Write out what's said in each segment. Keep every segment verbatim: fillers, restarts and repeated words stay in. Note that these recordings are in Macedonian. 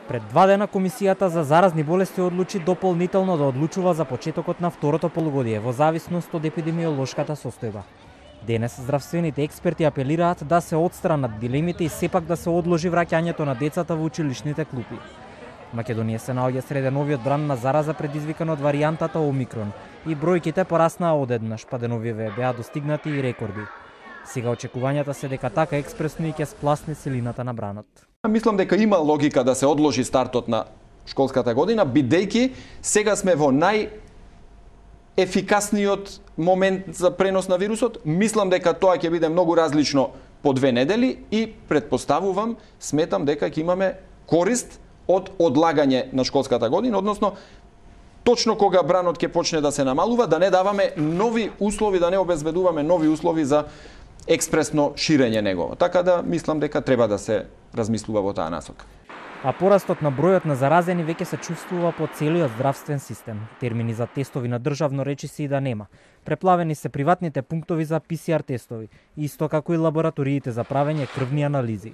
Пред два дена Комисијата за заразни болести одлучи дополнително да одлучува за почетокот на второто полугодие во зависност од епидемиолошката состојба. Денес здравствените експерти апелираат да се отстранат дилемите и сепак да се одложи враќањето на децата во училишните клупи. Македонија се наоѓа среде новиот бран на зараза предизвикан од варијантата Омикрон и бројките пораснаа одеднаш, па деновиве беа достигнати и рекорди. Сега очекувањата се дека така експресно и ќе спласне силината на бранот. Мислам дека има логика да се одложи стартот на школската година, бидејќи сега сме во нај ефикасниот момент за пренос на вирусот. Мислам дека тоа ќе биде многу различно по две недели и предпоставувам, сметам дека ќе имаме корист од одлагање на школската година, односно точно кога бранот ќе почне да се намалува, да не даваме нови услови, да не обезбедуваме нови услови за експресно ширење негово. Така да мислам дека треба да се размислува во таа насока. А порастот на бројот на заразени веќе се чувствува по целиот здравствен систем. Термини за тестови на државно речиси и да нема. Преплавени се приватните пунктови за пи си ар тестови, исто како и лабораториите за правење крвни анализи.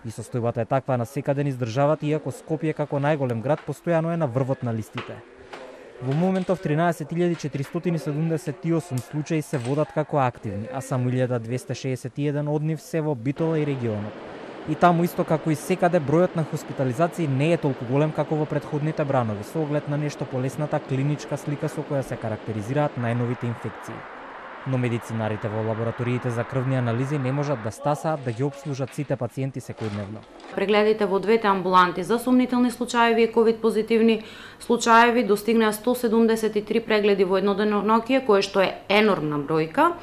И состојбата е таква на секаде низ државата, иако Скопје како најголем град постојано е на врвот на листите. Во моментов тринаесет илјади четиристотини седумдесет и осум случаи се водат како активни, а само илјада двесте шеесет и еден од нив се во Битола и регионот. И таму исто како и секаде бројот на хоспитализации не е толку голем како во претходните бранови, со оглед на нешто полесната клиничка слика со која се карактеризираат најновите инфекции. Но медицинарите во лабораториите за крвни анализи не можат да стасаат да ги обслужат сите пациенти секојдневно. Прегледите во двете амбуланти за сумнителни случаеви и ковид позитивни случаеви достигнаа сто седумдесет и три прегледи во едно деноноќие, кое што е енормна бројка,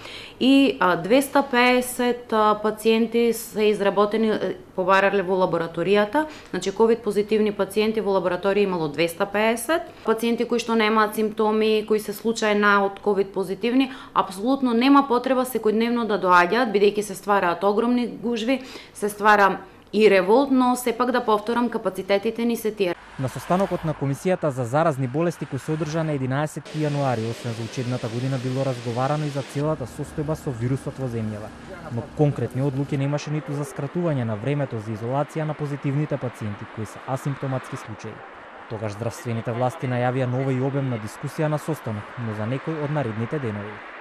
и двесте пеесет пациенти се изработени побарале во лабораторијата. Значи ковид позитивни пациенти во лабораторија имало двесте пеесет, пациенти кои што немаат симптоми, кои се случајна од ковид позитивни, апсолутно нема потреба секојдневно да доаѓаат, бидејќи се ствараат огромни гужви, се ствара и револт, но сепак да повторам, капацитетите ни се тие. На состанокот на Комисијата за заразни болести кој се одржа на единаесети јануари, освен за учебната година, било разговарано и за целата состојба со вирусот во земјава. Но конкретни одлуки немаше ниту за скратување на времето за изолација на позитивните пациенти кои се асимптоматски случаи. Тогаш здравствените власти најавија нова и обемна дискусија на состанок, но за некој од наредните денови.